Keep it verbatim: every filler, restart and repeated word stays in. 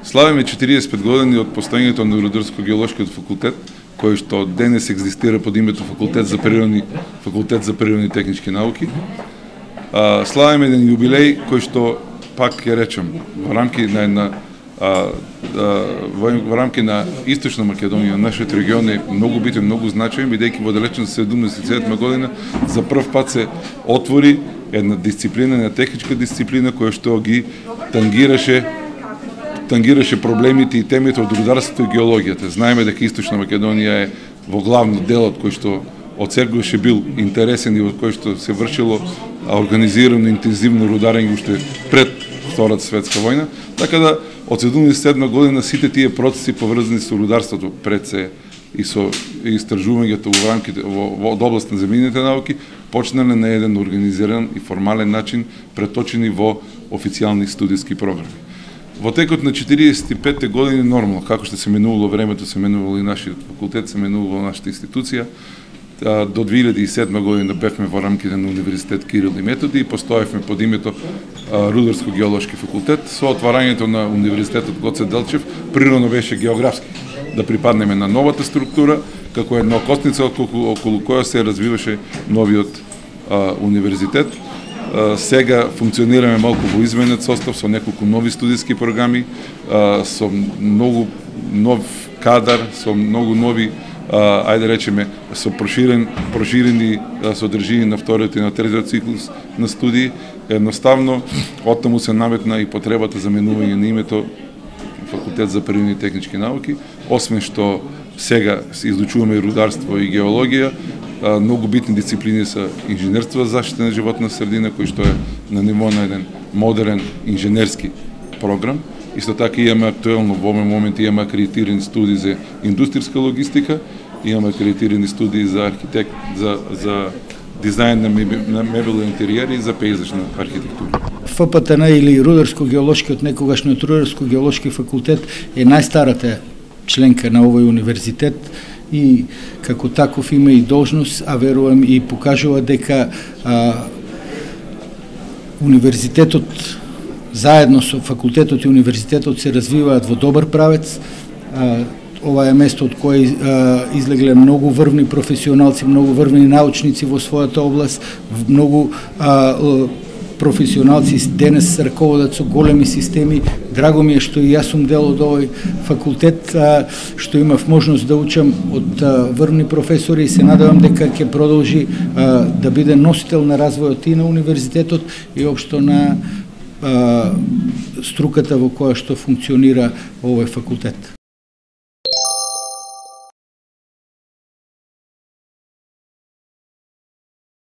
Славиме четириесет и пет години од постоењето на Рударско-геолошкиот факултет, кој што денес екзистира под името Факултет за природни Факултет за природни и технички науки. А, славиме еден јубилеј кој што, пак ќе речем, во рамки на една а, а, во, во рамки на Источна Македонија, нашиот регион е многу битен, многу значаен, бидејќи во далечната седумдесет и седма година за прв пат се отвори една дисциплина, една техничка дисциплина која што ги тангираше тангираше проблемите и темите од рударството и геологијата. Знаеме дека Источна Македонија е во главно делот кој што од секогаш бил интересен и од кој што се вршило организирано интензивно рударење уште пред Втората светска војна, така да од седумдесет и седма година сите тие процеси поврзани со рударството пред се и со истражувањето во рамките во, во област на земјините науки почнале на еден организиран и формален начин, преточени во официјални студиски програми. Во текот на четириесет и петте години нормално, како што се менувало времето, се менувало и нашиот факултет, се менувало нашата институција. До две илјади и седма година бевме во рамките на Универзитет Кирил и Методи и постоевме под името Рударско-геолошки факултет. Со отварањето на Универзитетот Гоце Делчев, природно беше географски да припаднеме на новата структура, како една окосница околу, околу која се развиваше новиот а, универзитет. А, сега функционираме малку во изменет состав со неколку нови студиски програми, а, со многу нов кадар, со многу нови Uh, ајде речеме, со проширен, проширени uh, содржини на вториот и на третиот циклус на студии. Едноставно, оттаму се наметна и потребата за менување на името Факултет за природни и технички науки. Освен што сега се изучуваме и рударство и геологија, uh, многу битни дисциплини се инженерство за заштита на животна средина, кој што е на ниво на еден модерен инженерски програм. Исто така имаме актуелно во овој момент имаме акредитирани студии за индустријска логистика, имаме акредитирани студии за архитект, за за дизајн на, мебел, на мебелни интериери и за пејзажна архитектура. ФПТН или Рударско-геолошкиот, некогашниот Рударско-геолошки факултет е најстарата членка на овој универзитет и како таков има и должност, а верувам и покажува дека а, универзитетот заедно со факултетот и универзитетот се развиваат во добар правец. А, ова е место од кој а, излегле многу врвни професионалци, многу врвни научници во својата област, многу а, професионалци денес раководат со големи системи. Драго ми е што и јас сум дел од овој факултет, а, што имав можност да учам од а, врвни професори и се надевам дека ќе продолжи а, да биде носител на развојот и на универзитетот и општо на струката во која што функционира овој факултет.